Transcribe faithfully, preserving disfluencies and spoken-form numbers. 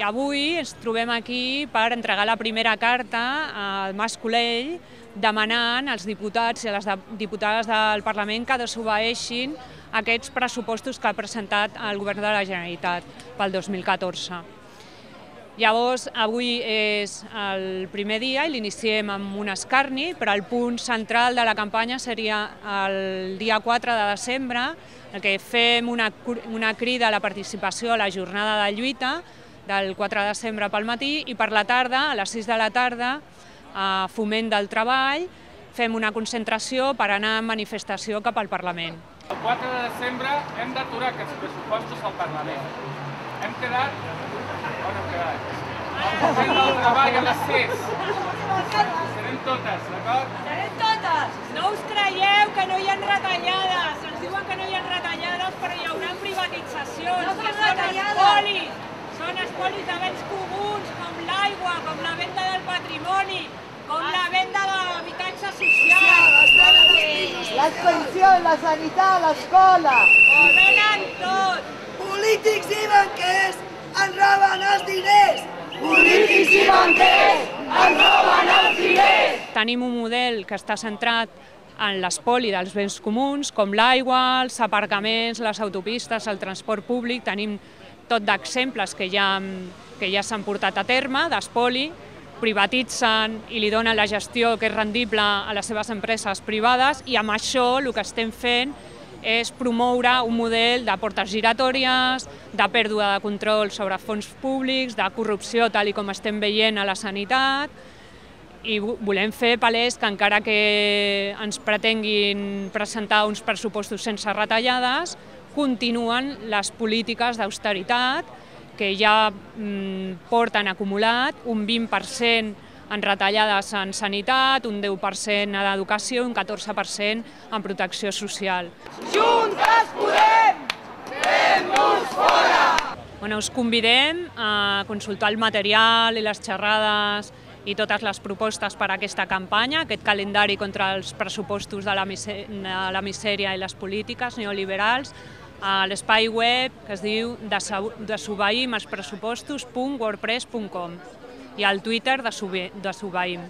avui ens trobem aquí per entregar la primera carta al Mas Colell demanant als diputats i a les diputades del Parlament que desobeeixin aquests pressupostos que ha presentat el Govern de la Generalitat pel dos mil catorze. Llavors, avui és el primer dia i l'iniciem amb un escarni, però el punt central de la campanya seria el dia quatre de desembre, en què fem una, una crida a la participació a la jornada de lluita del quatre de desembre pel matí i per la tarda, a les sis de la tarda, a Foment del Treball, fem una concentració per anar en manifestació cap al Parlament. El quatre de desembre hem d'aturar aquests pressupostos al Parlament. Hem quedat... On hem quedat? El Foment del Treball a les sis. Serem totes, d'acord? Serem totes! No us creieu que no hi ha retallades. Ens diuen que no hi ha retallades, però hi haurà privatitzacions, no que són espolis. Són espolis de béns comuns, com l'aigua, com la venda del patrimoni, com la venda de l'habitatge social. Les pensions, la sanitat, l'escola. Ho venen tot. Polítics i banquers ens roben els diners. Polítics i banquers ens roben els diners. Tenim un model que està centrat en l'espoli dels béns comuns, com l'aigua, els aparcaments, les autopistes, el transport públic. Tenim tot d'exemples que ja, que ja s'han portat a terme, d'espoli, privatitzen i li donen la gestió que és rendible a les seves empreses privades i amb això el que estem fent és promoure un model de portes giratòries, de pèrdua de control sobre fons públics, de corrupció tal i com estem veient a la sanitat i volem fer palès que encara que ens pretenguin presentar uns pressupostos sense retallades, continuen les polítiques d'austeritat que ja mm, porten acumulat un vint per cent en retallades en sanitat, un deu per cent en educació i un catorze per cent en protecció social. Juntes podem! Fem-nos fora! Bueno, us convidem a consultar el material i les xerrades i totes les propostes per a aquesta campanya, aquest calendari contra els pressupostos de la, de la misèria i les polítiques neoliberals, a l'espai web que es diu desobeïm els pressupostos punt wordpress punt com i al Twitter desobeïm.